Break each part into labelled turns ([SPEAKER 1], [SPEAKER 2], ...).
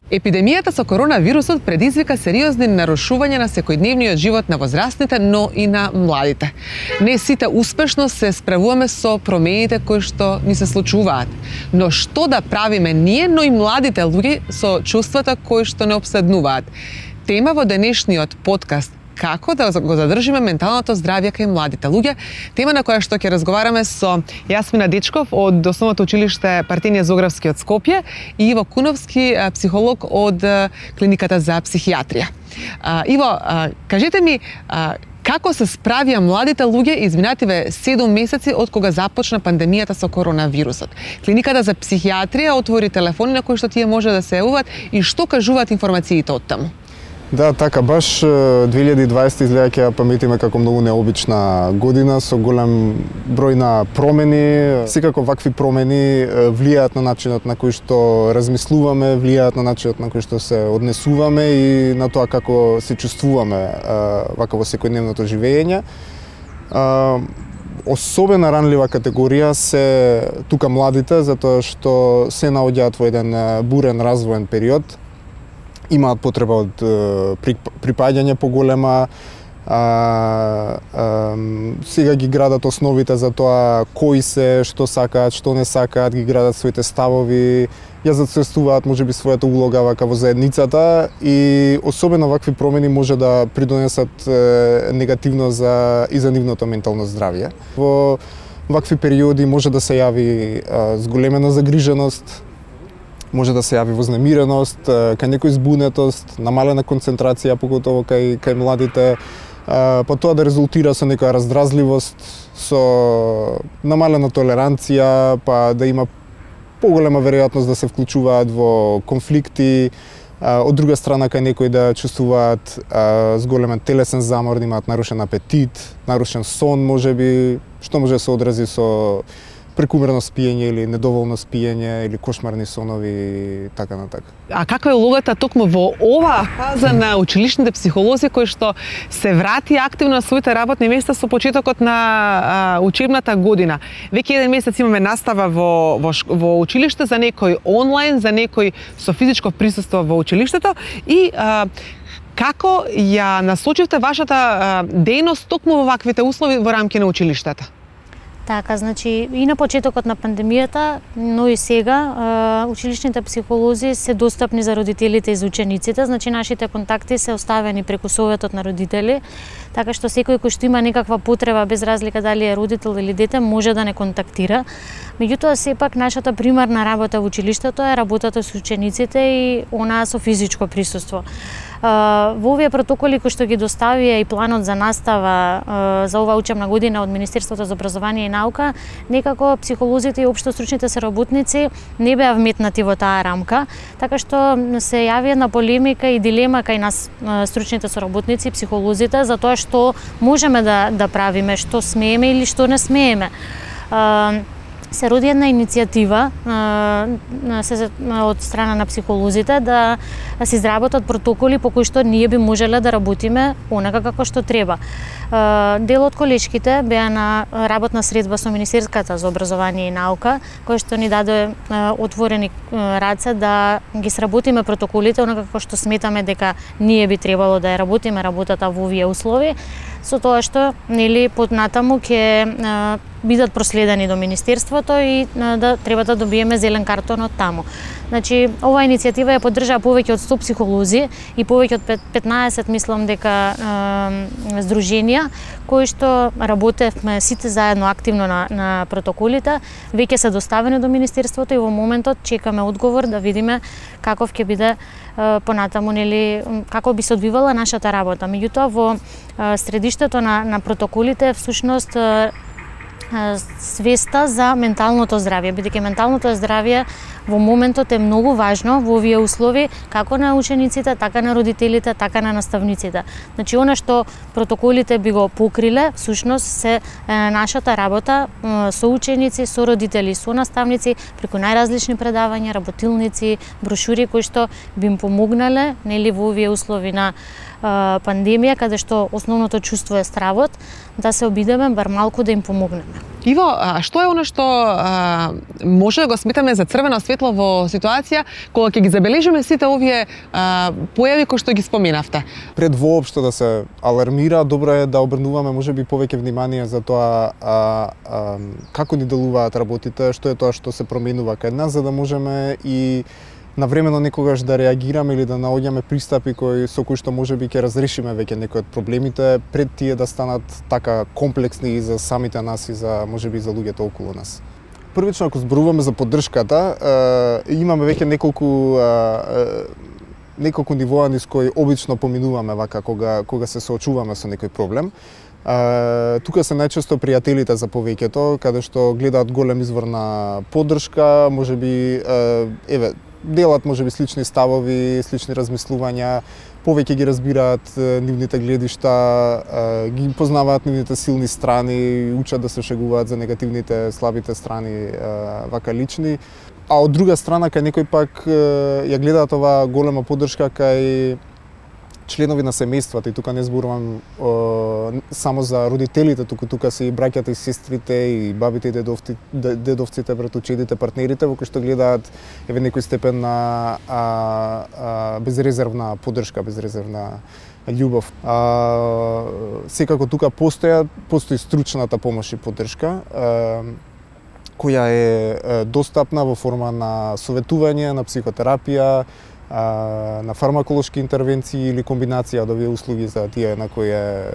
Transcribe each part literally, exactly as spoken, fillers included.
[SPEAKER 1] Епидемијата со коронавирусот предизвика сериозни нарушувања на секојдневниот живот на возрастните, но и на младите. Не сите успешно се справуваме со промените кои што ни се случуваат. Но што да правиме ние, но и младите луѓе со чувствата кои што не обседнуваат? Тема во денешниот подкаст како да го задржиме менталното здравје кај младите луѓе, тема на која што ќе разговараме со Јасмина Дечков од Основното училиште Партенија Зографски од Скопје и Иво Куновски, психолог од Клиниката за психијатрија. Иво, кажете ми, како се справија младите луѓе изминативе седум месеци од кога започна пандемијата со коронавирусот? Клиниката за психијатрија отвори телефони на кои што тие може да се јавуваат и што кажуваат информациите од таму?
[SPEAKER 2] Да, така, баш две илјади и дваесета изгледа ќе ја паметиме како многу необична година со голем број на промени. Секако вакви промени влијаат на начинот на кој што размислуваме, влијаат на начинот на кој што се однесуваме и на тоа како се чувствуваме вака во секојдневното живење. Особено ранлива категорија се тука младите, затоа што се наоѓаат во еден бурен развоен период. Имаат потреба од припаѓање поголема, а, а, сега ги градат основите за тоа кои се, што сакаат, што не сакаат, ги градат своите ставови, ја зацрстуваат можеби својата улога вака во заедницата и особено вакви промени може да придонесат е, негативно за и за нивното ментално здравје. Во вакви периоди може да се јави а, зголемена загриженост, може да се јави вознемиреност, кај некој збунетост, намалена концентрација, поготово кај, кај младите, па тоа да резултира со некоја раздразливост, со намалена толеранција, па да има поголема веројатност да се вклучуваат во конфликти, од друга страна кај некој да чувствуваат зголемен телесен замор, да имаат нарушен апетит, нарушен сон можеби, што може да се одрази со прекумерно спиење или недоволно спиење или кошмарни сонови и така на така.
[SPEAKER 1] А каква е улогата токму во оваа фаза на училишните психолози кои што се врати активно на своите работни места со почетокот на а, учебната година? Веќе еден месец имаме настава во, во, во училиште, за некој онлайн, за некој со физичко присуство во училиштето и а, како ја насочивте вашата а, дејност токму во ваквите услови во рамки на училиштата?
[SPEAKER 3] Така, значи и на почетокот на пандемијата, но и сега училишните психолози се достапни за родителите и за учениците, значи нашите контакти се оставени преку советот на родители, така што секој кој што има некаква потреба без разлика дали е родител или дете може да не контактира. Меѓутоа сепак нашата примарна работа во училиштето е работата со учениците и онаа со физичко присуство. Во овие протоколи кои што ги доставија и планот за настава за оваа учебна година од Министерството за образование и наука, некако психолозите и општостручните соработници не беа вметнати во таа рамка, така што се јави една полемика и дилема кај нас стручните соработници и психолозите за тоа што можеме да да правиме, што смееме или што не смееме. Се роди една иницијатива се, од страна на психолозите да се изработат протоколи по кои што ние би можеле да работиме онака како што треба. Дел од колешките беа на работна средба со Министерската за образование и наука, која што ни даде отворени раце да ги сработиме протоколите онака како што сметаме дека ние би требало да ја работиме работата во овие услови, со тоа што нели поднатаму ќе бидат проследени до Министерството и да треба да добиеме зелен картон од таму. Значи, оваа иницијатива ја поддржаа повеќе од сто психолози и повеќе од петнаесет, мислам дека е, здруженија кои што работевме сите заедно активно на, на протоколите, веќе се доставени до Министерството и во моментот чекаме одговор да видиме каков ќе биде е, понатаму, нели, како би се одвивала нашата работа. Меѓутоа во е, средиштето на, на протоколите всушност е, свеста за менталното здравје, бидејќи менталното здравје во моментот е многу важно во овие услови, како на учениците, така на родителите, така на наставниците. Значи, она што протоколите би го покриле, всушност се е, нашата работа е, со ученици, со родители, со наставници, преку најразлични предавања, работилници, брошури кои што би им помогнале, нели, во овие услови на пандемија, каде што основното чувство е стравот, да се обидеме бар малку да им помогнеме.
[SPEAKER 1] Иво, а што е оно што а, може да го сметаме за црвено светло светло во ситуација кога ќе ги забележиме сите овие а, појави кои што ги споменавте?
[SPEAKER 2] Пред воопшто да се алармира, добро е да обрнуваме можеби повеќе внимание за тоа а, а, како ни делуваат работите, што е тоа што се променува кај нас, за да можеме и навремено некогаш да реагираме или да наоѓаме пристапи кои со кои што можеби ќе разрешиме веќе некои од проблемите пред тие да станат така комплексни и за самите нас и за можеби за луѓето околу нас. Првично, ако зборуваме за поддршката, е, имаме веќе неколку е, неколку нивоа низ кои обично поминуваме вака кога кога се соочуваме со некој проблем. Uh, тука се најчесто пријателите за повеќето, каде што гледаат голем извор на поддршка, можеби uh, еве делат можеби слични ставови, слични размислувања, повеќе ги разбираат uh, нивните гледишта, uh, ги познаваат нивните силни страни, учат да се шегуваат за негативните, слабите страни uh, вака лични. А од друга страна, кај некој пак uh, ја гледаат оваа голема поддршка кај членови на семејствата, и тука не зборувам о, само за родителите, туку тука се и браќата и сестрите, и бабите и дедовците, дедовците, братучедите, партнерите, во кои што гледаат еве некој степен на а, а, безрезервна поддршка, безрезервна љубов. А, секако тука постоја, постои стручната помош и поддршка, а, која е достапна во форма на советување, на психотерапија, на фармаколошки интервенции или комбинација од овие услуги за тие на кои е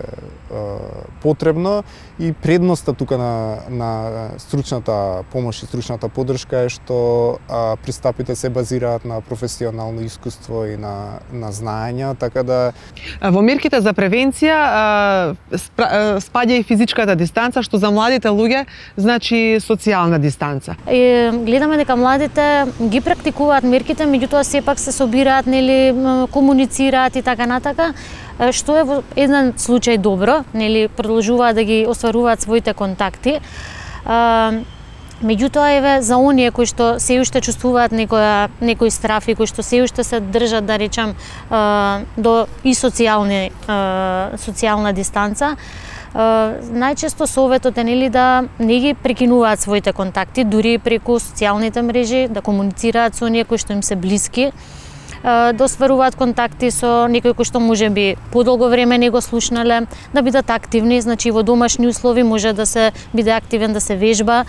[SPEAKER 2] потребно. И предноста тука на, на стручната помош и стручната поддршка е што а, пристапите се базираат на професионално искуство и на, на знаења, така да...
[SPEAKER 1] Во мерките за превенција а, спра, спаѓа и физичката дистанца, што за младите луѓе значи социјална дистанца.
[SPEAKER 3] И, гледаме дека младите ги практикуваат мерките, меѓутоа сепак се собираат, нели, комуницираат и така натака, што е во еден случај добро, нели, продолжуваат да ги остваруваат своите контакти. Меѓутоа, еве, за оние кои што се уште чувствуваат некоја, некои страфи, кои што се уште се држат, да речам, до и социјални, социјална дистанца, најчесто советот е, нели, да не ги прекинуваат своите контакти, дури преку социјалните мрежи, да комуницираат со оние кои што им се блиски, да остваруваат контакти со некои кои што можеби подолго време не го слушнале, да бидат активни, значи во домашни услови може да се биде активен, да се вежба,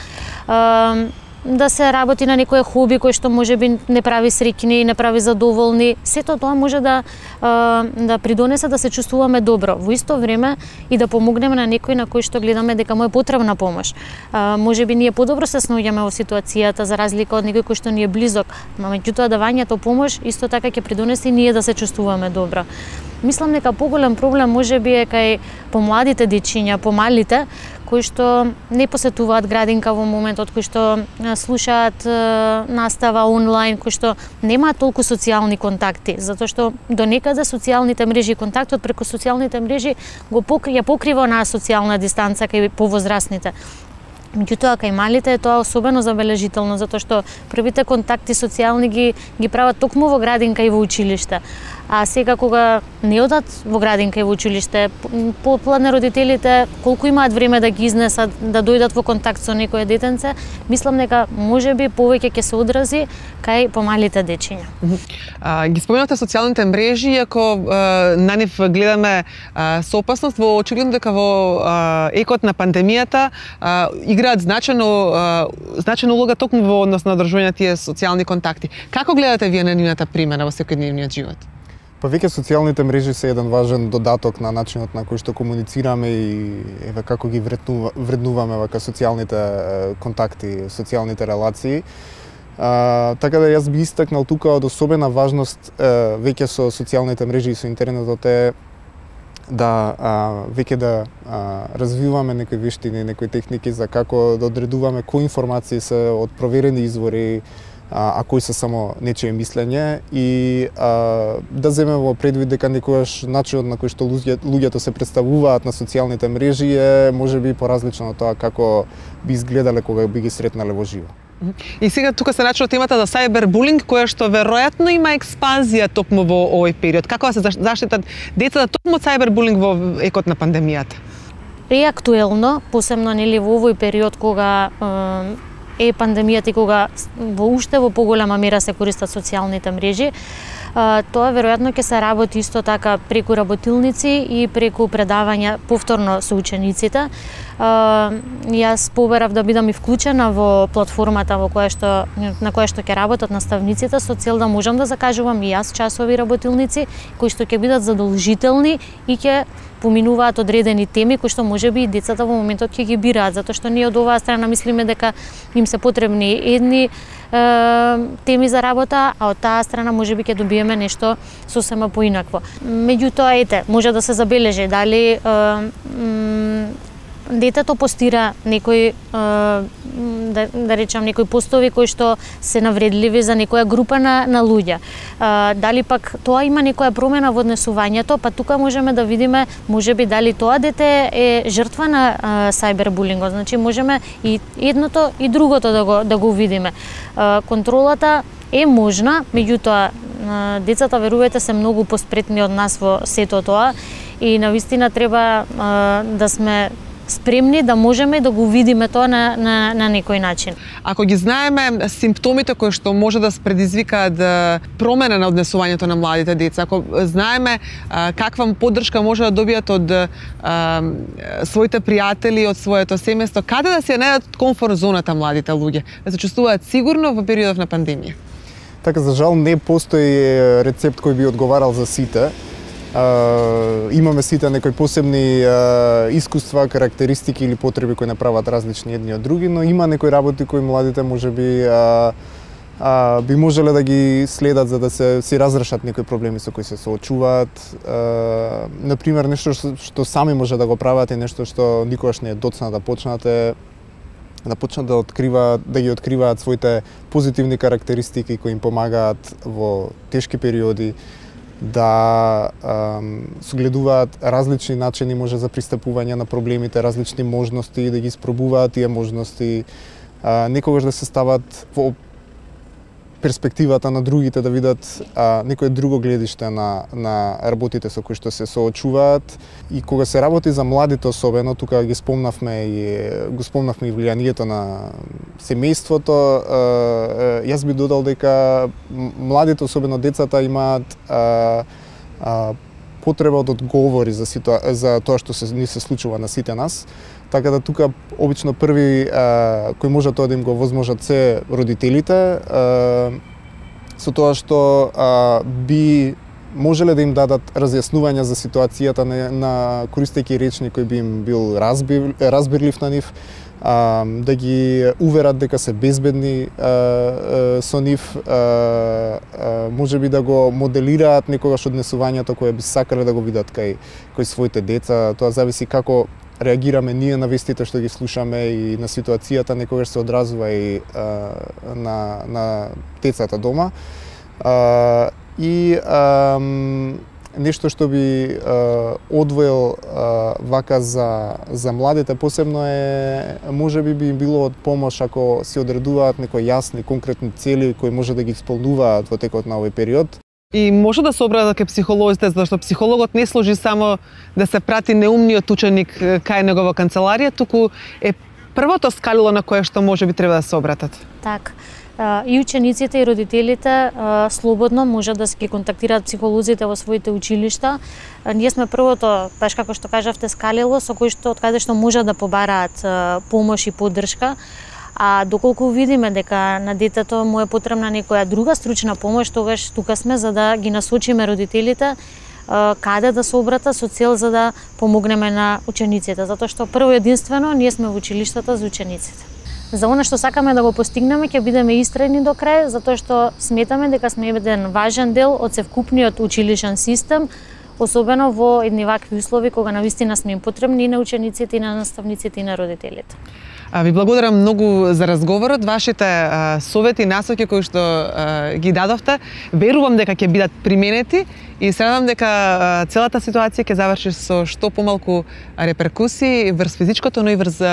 [SPEAKER 3] да се работи на некое хоби кој што можеби не прави среќни, не прави задоволни. Сето тоа може да да придонесе да се чувствуваме добро. Во исто време и да помогнеме на некој на кој што гледаме дека му е потребна помош. Можеби ние подобро се снаоѓаме во ситуацијата за разлика од некој кој што ни е близок, меѓутоа давањето помош исто така ќе придонесе и ние да се чувствуваме добро. Мислам дека поголем проблем можеби е кај помладите дечиња, помалите, кои што не посетуваат градинка во моментот, кои што слушаат настава онлайн, кои што немаат толку социјални контакти, затоа што до некаде социјалните мрежи и контактот преку социјалните мрежи го покрија покрива онаа социјална дистанца кај повозрасните. Меѓутоа, кај малите е тоа особено забележително, затоа што првите контакти социјални ги, ги прават токму во градинка и во училиште. А сега кога не одат во градинка и во училиште, попладне родителите колку имаат време да ги изнесат, да дојдат во контакт со некое детенце, мислам дека можеби повеќе ќе се одрази кај помалите дечиња.
[SPEAKER 1] А, ги споменавте социјалните мрежи, иако а, на нив гледаме а, со опасност, во очигледно дека во а, екот на пандемијата а, играат значено а, значена улога токму во однос на одржување на тие социјални контакти. Како гледате вие на нивната примена во секојдневниот живот?
[SPEAKER 2] Па веќе социјалните мрежи се еден важен додаток на начинот на кој што комуницираме и еве како ги вреднува, вреднуваме вака социјалните контакти, социјалните релации. А, така да јас би истакнал тука од особена важност е, веќе со социјалните мрежи и со интернетот е да а, веќе да а, развиваме некои вештини, некои техники за како да одредуваме кои информации се од проверени извори, а, а кои се само нечие мислење и а, да земеме во предвид дека некојаш начинот на кој што луѓе, луѓето се представуваат на социјалните мрежи е можеби поразлично од тоа како би изгледале кога би ги сретнале во живо.
[SPEAKER 1] И сега тука се начува темата за сајбербулинг, која што веројатно има експанзија токму во овој период. Како да се заштитат децата токму од сајбербулинг во екот на пандемијата?
[SPEAKER 3] Е актуелно, посебно, нели, во овој период кога е пандемијата и кога во уште во поголема мера се користат социјалните мрежи, тоа веројатно ќе се работи исто така преку работилници и преку предавања повторно со учениците. Јас побарав да бидам и вклучена во платформата во која што на која што ќе работат наставниците со цел да можам да закажувам и јас часови работилници кои што ќе бидат задолжителни и ќе поминуваат одредени теми кои што можеби и децата во моментот ќе ги бираат, затоа што ние од оваа страна мислиме дека им се потребни едни теми за работа, а од таа страна можеби ќе добиеме нешто сосема поинакво. Меѓутоа, ете, може да се забележи дали детето постира некои, да, да речам, некои постови кои што се навредливи за некоја група на, на луѓе. Дали пак тоа има некоја промена во однесувањето, па тука можеме да видиме, можеби дали тоа дете е жртва на сајбербулингот. Значи можеме и едното и другото да го, да го видиме. Контролата е можна, меѓутоа децата, верувајте, се многу поспретни од нас во сето тоа и навистина треба да сме спремни да можеме да го видиме тоа на, на, на некој начин.
[SPEAKER 1] Ако ги знаеме симптомите кои што може да предизвикаат промена на однесувањето на младите деца, ако знаеме а, каква поддршка може да добијат од а, своите пријатели, од своето семејство, каде да се најдат комфорт зоната младите луѓе, да се чувствуваат сигурно во периодов на пандемија?
[SPEAKER 2] Така, за жал не постои рецепт кој би одговарал за сите. Uh, имаме сите некои посебни uh, искуства, карактеристики или потреби кои направат различни едни од други, но има некои работи кои младите можеби uh, uh, би можеле да ги следат за да се си разрешат некои проблеми со кои се соочуваат. Uh, например, нешто што, што сами може да го прават и нешто што никогаш не е доцна да почнате, да почнат да откриваат, да ги откриваат своите позитивни карактеристики кои им помагаат во тешки периоди, да ем, согледуваат различни начини може за пристапување на проблемите, различни можности, да ги испробуваат тие можности, а, некогаш да се стават во перспективата на другите, да видат а, некое друго гледиште на, на работите со кои што се соочуваат. И кога се работи за младите особено, тука ги спомнавме и го спомнавме и влијанието на семејството, а, јас би додал дека младите, особено децата, имаат а, а, потреба од одговори за, ситуа... за тоа што се ни се случува на сите нас. Така да тука обично први а, кои може тоа да им го возможат се родителите, а, со тоа што а, би можеле да им дадат разјаснувања за ситуацијата на, на користејќи речник кој би им бил разбир, разбирлив на нив, а, да ги уверат дека се безбедни а, а, со нив, а, а, можеби да го моделираат некогаш однесувањето кое би сакале да го видат кај, кај своите деца. Тоа зависи како реагираме ние на вестите што ги слушаме и на ситуацијата, некогаш се одразува и а, на, на децата дома. А, и а, нешто што би а, одвоил а, вака за, за младите посебно е, можеби би им било од помош ако се одредуваат некои јасни, конкретни цели кои може да ги исполнуваат во текот на овој период.
[SPEAKER 1] И може да се обратат кај психолозите, зашто психологот не служи само да се прати неумниот ученик кај негова канцеларија, туку е првото скалило на кое што може би треба да се обратат.
[SPEAKER 3] Так. И учениците и родителите слободно можат да се ги контактираат психолозите во своите училишта. Ние сме првото, баш како што кажавте, скалило со кој што од каде што можат да побараат помош и поддршка. А доколку видиме дека на детето му е потребна некоја друга стручна помош, тогаш тука сме за да ги насочиме родителите каде да се обрата со цел за да помогнеме на учениците, затоа што прво единствено ние сме во училиштата за учениците. За она што сакаме да го постигнеме, ќе бидеме истрени до крај, затоа што сметаме дека сме еден важен дел од севкупниот училишен систем, особено во едни вакви услови кога навистина сме им потребни и на учениците, и на наставниците, и на родителите.
[SPEAKER 1] Ви благодарам многу за разговорот, вашите а, совети и насоки кои што а, ги дадовте. Верувам дека ќе бидат применети и се надам дека а, целата ситуација ќе заврши со што помалку реперкусии врз физичкото, но и врз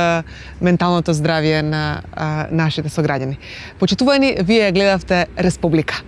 [SPEAKER 1] менталното здравје на а, нашите сограѓани. Почитувани, вие гледавте Республика.